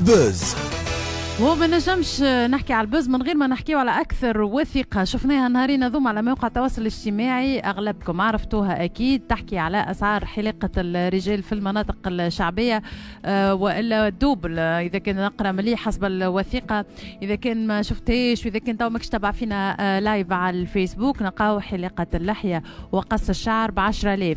ال buzz. وما نجمش نحكي على ال buzz من غير ما نحكيو على اكثر وثيقة شفناها نهارين هذوما على مواقع التواصل الاجتماعي، اغلبكم عرفتوها اكيد، تحكي على اسعار حلاقه الرجال في المناطق الشعبية والا double. اذا كان نقرا مليح حسب الوثيقة، اذا كان ما شفتهاش واذا كان تو ماكش تبع فينا live على الفيسبوك، نلقاو حلاقه اللحية وقص الشعر ب 10000،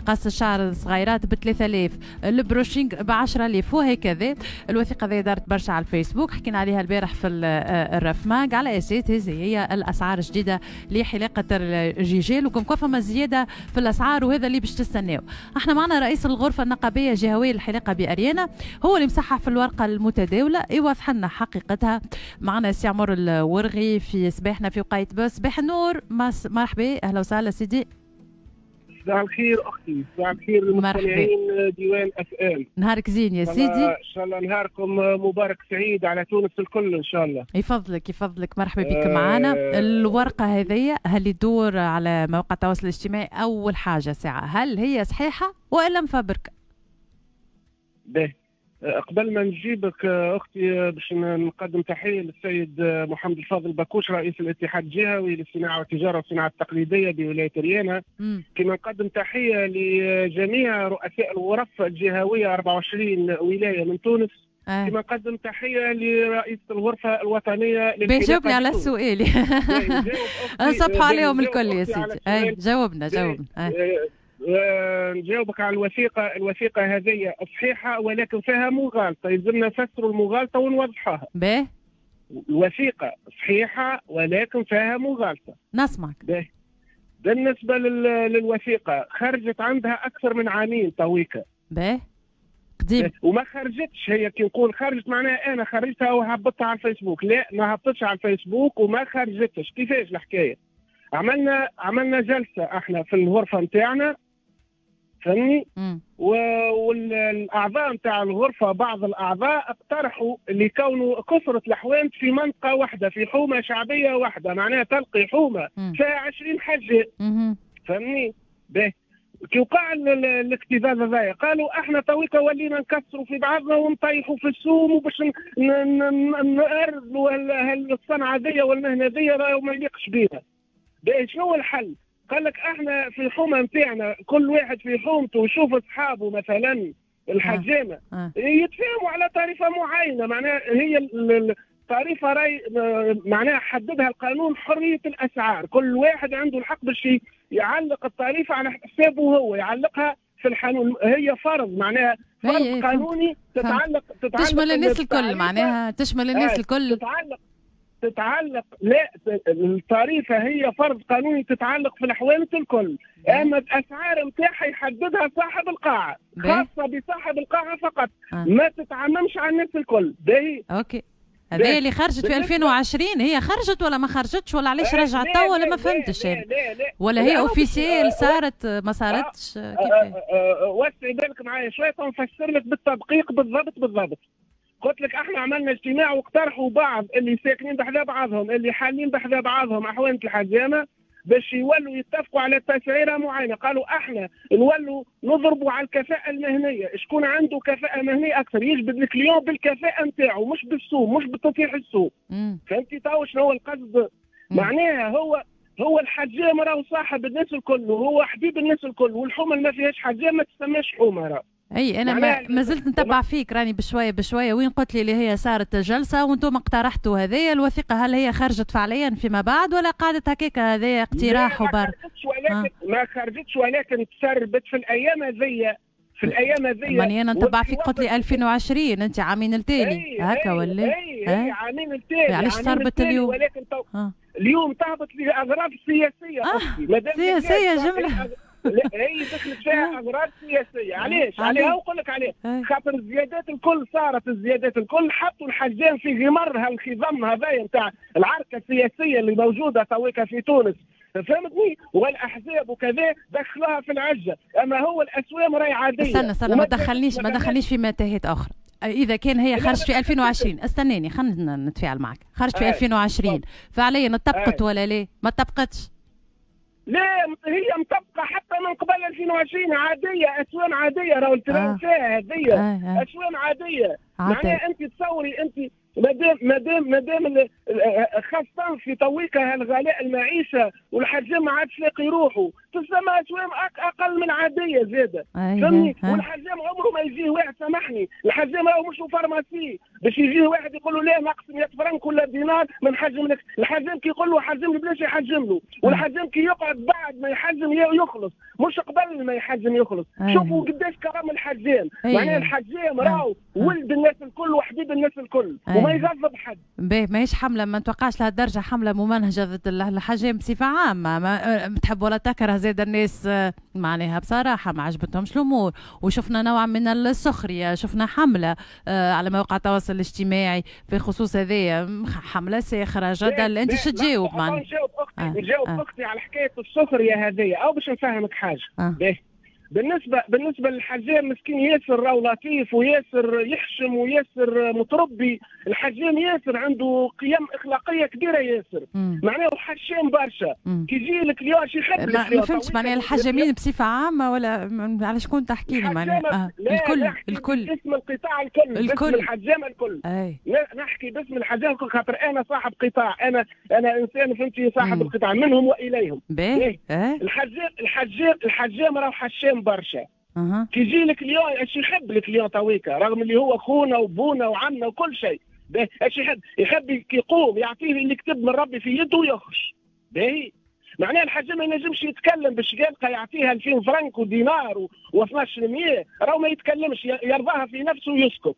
قص الشعر الصغيرات ب 3000، ال brushing ب 10000 وهكذا. الوثيقة ذي دارت برشا على الفيسبوك، حكينا عليها البارح في الرفماق على اساس هذه هي الاسعار الجديدة لحلاقه الرجال، وكم فما زيادة في الاسعار وهذا اللي باش تستناو. احنا معنا رئيس الغرفة النقابيه الجهوية للحلاقه باريانا، هو اللي مصحح في الورقة المتداولة يوضح لنا حقيقتها. معنا سي عمر الورغي في صباحنا في وقاية buzz. صباح النور، مرحبا، اهلا وسهلا سيدي. صباح الخير اختي، صباح الخير للمستمعين ديوان FM. نهارك زين يا سيدي، ان شاء الله نهاركم مبارك سعيد على تونس الكل ان شاء الله. يفضلك يفضلك، مرحبا بك معنا. الورقة هذه هل تدور على مواقع التواصل الاجتماعي؟ اول حاجة ساعة، هل هي صحيحه والا مفبركه؟ باهي، قبل ما نجيبك اختي باش نقدم تحية للسيد محمد الفاضل بكوش رئيس الاتحاد الجهوي للصناعة والتجارة والصناعة التقليدية بولاية ريانا، كما نقدم تحية لجميع رؤساء الغرف الجهوية 24 ولاية من تونس. كما نقدم تحية لرئيس الغرفة الوطنية. جاوبني على السؤال. نصبحوا عليهم الكل يا سيدي. جاوبنا جاوبنا. نجاوبك على الوثيقة. الوثيقة هذه صحيحة ولكن فيها مغالطة، يلزمنا نفسروا المغالطة ونوضحوها. باهي. الوثيقة صحيحة ولكن فيها مغالطة. نسمعك. باهي. بالنسبة للوثيقة خرجت عندها أكثر من عامين تويكا. باهي. قديم. وما خرجتش هي، كي نقول خرجت معناها أنا خرجتها وهبطتها على الفيسبوك، لا ما هبطتش على الفيسبوك وما خرجتش. كيفاش الحكاية؟ عملنا جلسة احنا في الغرفة نتاعنا، فهمني؟ والاعضاء نتاع الغرفة بعض الاعضاء اقترحوا اللي كونوا كثرة الحوانت في منطقة واحدة، في حومه شعبية واحدة، معناها تلقي حومه فيها 20 حجه، فهمني؟ باهي. كي وقع الاكتظاظ هذايا قالوا احنا تويكا ولينا نكسروا في بعضنا ونطيحوا في السوم وباش نأرضوا الصنعة ذي والمهنه ذي راهو ما يليقش بينا. باهي، شنو الحل؟ قال لك احنا في الحومه نتاعنا كل واحد في حومته يشوف اصحابه مثلا الحجامة يتفاهموا على طريقه معينة، معناها هي الطريقة راي معناها حددها القانون حرية الاسعار، كل واحد عنده الحق باش يعلق الطريفة على حسابه هو، يعلقها في الحانون، هي فرض معناها فرض قانوني تتعلق تشمل الناس الكل، معناها تشمل الناس الكل، تتعلق لا الطريفة هي فرض قانوني تتعلق في الحوانت الكل، اما الاسعار نتاعها يحددها صاحب القاعة، خاصة بصاحب القاعة فقط، ما تتعممش على الناس الكل. باهي. OK، هذه اللي خرجت في 2020 هي خرجت ولا ما خرجتش ولا علاش رجعت توا ولا ما فهمتش يعني؟ ولا هي officielle صارت ما صارتش؟ كيفاش؟ وسعي بالك معايا شوية نفسر لك بالتدقيق بالضبط بالضبط. قلت لك احنا عملنا اجتماع واقترحوا بعض اللي ساكنين بحذا بعضهم، اللي حالين بحذا بعضهم احوانة الحجامة باش يولوا يتفقوا على تسعيره معينة، قالوا احنا نولوا نضربوا على الكفاءة المهنية، شكون عنده كفاءة مهنية اكثر يجبد ال client بالكفاءه نتاعو مش بالسوق، مش بتطيح السوق. فهمتي تو شنو هو القصد؟ معناها هو الحجام راهو صاحب الناس الكل وهو حبيب الناس الكل، والحومه اللي ما فيهاش حجام ما تسماش حومه راهو. اي انا ما زلت نتبع فيك راني بشوية بشوية. وين قلت لي اللي هي صارت جلسه وانتم اقترحتوا هذه الوثيقة، هل هي خرجت فعليا فيما بعد ولا قعدت هكاك هذا اقتراح وبر؟ ما خرجتش ولكن تسربت في الايام هذيا، في الايام هذيا. ماني انا نتبع فيك، قلت لي 2020 انت عامين التالي هكا ولا؟ اي عامين التالي. علاش تسربت اليوم؟ ولكن اليوم تهبط لاغراض سياسية. سياسية جملة. لا هي دخلت فيها اغراض سياسية. علاش؟ عليها نقول لك عليه، خاطر الزيادات الكل صارت، الزيادات الكل حطوا الحجام في غمر هالخضم هذايا نتاع العركه السياسية اللي موجودة تويكا في تونس، فهمتني؟ والاحزاب وكذا دخلوها في العجه، اما هو الاسوام راهي عادية. استنى استنى، ما دخلنيش في متاهات اخرى. اذا كان هي خرجت في 2020، استناني خلينا نتفاعل معك، خرجت في 2020 فعليا طبقت ولا لا؟ ما طبقتش؟ لا هي مطبقه حتى من قبل 2020 عادية، اسوام عادية، راهو الترند فيها هذيا اسوام عادية. معناها انت تصوري انت مادام خاصة في تويكا هالغلاء المعيشة والحجام ما عادش لاقي روحه، تسمى اسوام اقل من عادية زاده، فهمني؟ والحجام عمره ما يجيه واحد، سامحني، الحجام راهو مش pharmacie باش يجيه واحد يقول له لا ناقص 100 فرنك ولا دينار ما نحجم لك. الحجام كي يقول له حجم لي بلاش يحجم له، والحجام كي يقعد بعد ما يحجم يخلص، مش قبل ما يحجم يخلص. شوفوا قداش كرم الحجام، معناها الحجام راهو ولد الناس الكل وحبيب الناس الكل وما يغضب حد. باهي، ماهيش حمله، ما نتوقعش لهالدرجة حمله ممنهجه ضد الحجام بصفة عامة، ما تحب ولا تكره زاد الناس معناها بصراحة ما عجبتهمش الامور، وشفنا نوع من السخرية، شفنا حمله على مواقع التواصل الاجتماعي في خصوص هذايا، حمله ساخرة جدل. انت شو تجاوب معناها؟ نجاوب اختي، نجاوب اختي على حكاية السخرية هذيا، او باش نفهمك حاجة. باهي، بالنسبة للحجام مسكين ياسر راهو لطيف وياسر يحشم وياسر متربي، الحجام ياسر عنده قيم اخلاقية كبيرة ياسر، معناه حشام برشا. كي يجي ال client شي يحب. ما فهمتش معناها الحجامين بصفة عامة ولا على شكون تحكي لي معناها؟ الكل، الكل باسم القطاع الكل، باسم الحجام الكل. نحكي باسم الحجام الكل خاطر انا صاحب قطاع، انا انسان فهمتي صاحب القطاع منهم واليهم. الحجام راهو حشام برشا. كي يجي ال client اش يحب ال client تويكا، رغم اللي هو خونا وبونا وعمنا وكل شيء، اش يحب؟ يحب كي يقوم يعطيه اللي كتب من ربي في يده ويخرج. باهي، معناها الحجام ما ينجمش يتكلم باش يلقى يعطيها 2000 فرنك ودينار و1200، راهو ما يتكلمش، يرضاها في نفسه ويسكت.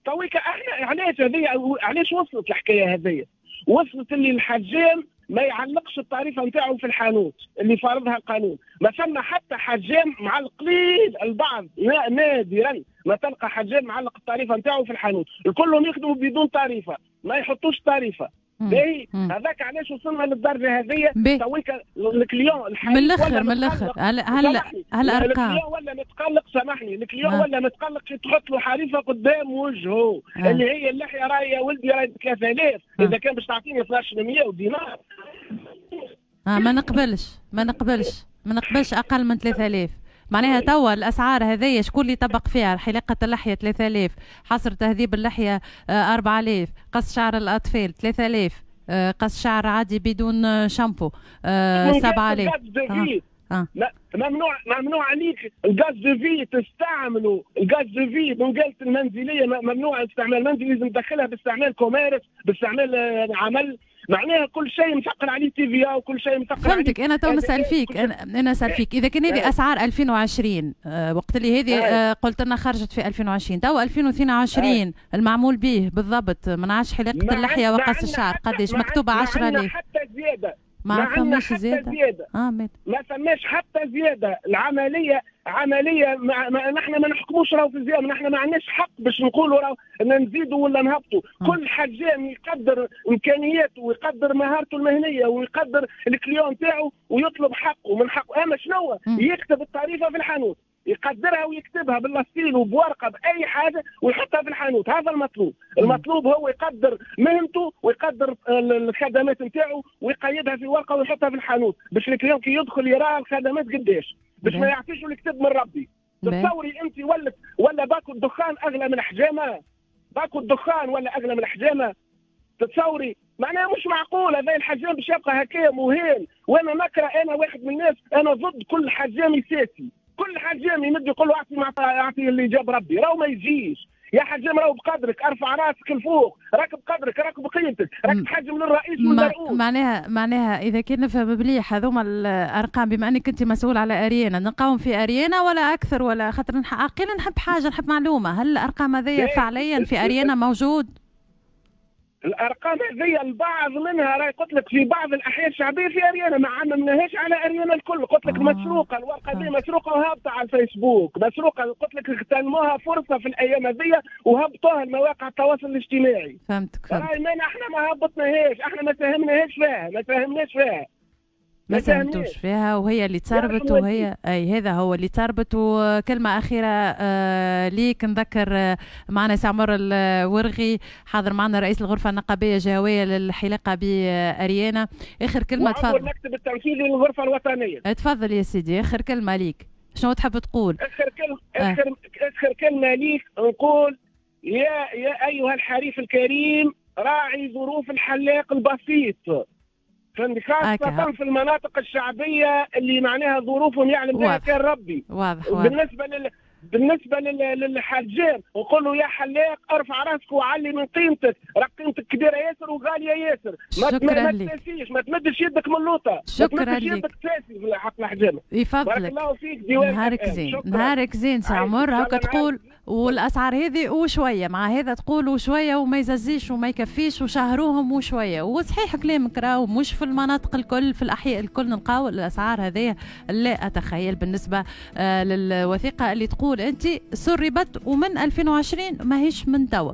تويكا احنا علاش هذه، علاش وصلت الحكاية هذه؟ وصلت اللي الحجام ما يعلقش التعريفه نتاعو في الحانوت اللي فارضها القانون. ما ثم حتى حجام مع القليل، البعض نادرا ما تلقى حجام معلق التعريفه نتاعو في الحانوت، الكلهم يخدموا بدون تعريفه، ما يحطوش تعريفه. باهي، هذاك علاش وصلنا للدرجة هذه تويكا ال client. من الاخر، من الاخر هل هالارقام ال client ولا متقلق، سامحني، ال client ولا متقلق كي تحط له حريفه قدام وجهه اللي هي اللحية، راهي يا ولدي راهي 3000، اذا كان باش تعطيني 1200 ودينار ما نقبلش، ما نقبلش، ما نقبلش اقل من 3000. معناها توا الاسعار هذيا شكون اللي طبق فيها؟ حلاقه اللحية 3000، حصر تهذيب اللحية 4000، قص شعر الاطفال 3000، قص شعر عادي بدون شامبو 7000. ممنوع عليك ال gaz de vie تستعمله، ال gaz de vie منقالة المنزلية ممنوع استعمال منزلي، لازم تدخلها باستعمال commerce، باستعمال عمل، معناها كل شيء مثقل عليه TVA وكل شيء مثقل. فهمتك. انا تو نسال فيك، انا نسال فيك اذا كان هذه اسعار 2020، وقت اللي هذه قلت لنا خرجت في 2020، تو 2022 المعمول به بالضبط ما نعرفش حلاقه اللحية وقص الشعر قداش مكتوبة؟ 10000. حتى زيادة ما فماش زيادة، ما فماش حتى زيادة. العملية عملية نحن ما نحكموش راهو في الزيادة، نحن ما عندناش حق باش نقولوا راهو نزيدوا ولا نهبطوا. كل حجام يقدر امكانياته ويقدر مهارته المهنية ويقدر ال client تاعو ويطلب حقه من حقه. اما شنو؟ يكتب التعريفه في الحانوت، يقدرها ويكتبها باللاستيل وبورقه باي حاجة ويحطها في الحانوت. هذا المطلوب. المطلوب هو يقدر مهنته ويقدر الخدمات نتاعو ويقيدها في ورقة ويحطها في الحانوت باش ال client كي يدخل يرى الخدمات قداش، باش ما يعطيش الكتب من ربي. تصوري انت ولا باكو الدخان اغلى من الحجامة، باكو الدخان ولا اغلى من الحجامة، تتصوري؟ معناها مش معقول هذا الحجام باش يبقى هكايا مهين. وانا نكره، انا واحد من الناس انا ضد كل حجام سياسي، كل حجام يمد يقول له اعطي اللي جاب ربي، راهو ما يجيش يا حجام، راهو بقدرك، ارفع راسك لفوق، راك بقدرك، راك بقيمتك، راك تحجم للرئيس والمرؤوس. معناها اذا كان نفهم مليح هذوما الارقام، بما انك انت مسؤول على اريانا، نلقاهم في اريانا ولا اكثر؟ ولا خاطر عقيلا نحب حاجة، نحب معلومة، هل الارقام هذيا فعليا في اريانا موجود؟ الارقام هذه البعض منها راهي قلت لك في بعض الاحياء الشعبية في اريانا، ما عممناهاش على اريانا الكل. قلت لك مسروقه الورقة دي، مسروقه وهابطه على الفيسبوك، مسروقه، قلت لك اغتنموها فرصة في الايام هذه وهبطوها لمواقع التواصل الاجتماعي. فهمتك. راهي احنا ما هبطناهاش، احنا ما ساهمناهاش فيها، ما ساهمناش فيها. ما ساهمتوش فيها وهي اللي تسربت، وهي اي هذا هو اللي تسربت. وكلمه اخيرة ليك، نذكر معنا سي عمر الورغي حاضر معنا رئيس الغرفة النقابيه الجهوية للحلاقه باريانا، اخر كلمة تفضل. المكتب التنفيذي للغرفة الوطنية. تفضل يا سيدي، اخر كلمة ليك شنو تحب تقول؟ اخر كلمة اخر كلمة ليك نقول يا ايها الحريف الكريم، راعي ظروف الحلاق البسيط، خاصة في المناطق الشعبية اللي معناها ظروفهم يعلم بها كان ربي. واضح. بالنسبة للحجام نقول له يا حلاق ارفع راسك وعلي من قيمتك، راك قيمتك كبيرة ياسر وغالية ياسر. شكرا ما لك. تساسيش، ما تمدش يدك من اللوطة. شكرا ما تمدش لك. يدك تساسي في حق الحجامة. يفضلك. بارك الله فيك ديوان. نهارك زين، نهارك زين سي عمر. هكا تقول والاسعار هذه وشوية، مع هذا تقول وشوية وما يززيش وما يكفيش وشهروهم وشوية. وصحيح كلامك، راهو مش في المناطق الكل، في الاحياء الكل نلقاو الاسعار هذه. لا اتخيل بالنسبة للوثيقه اللي تقول انت سربت ومن 2020 ماهيش من توا.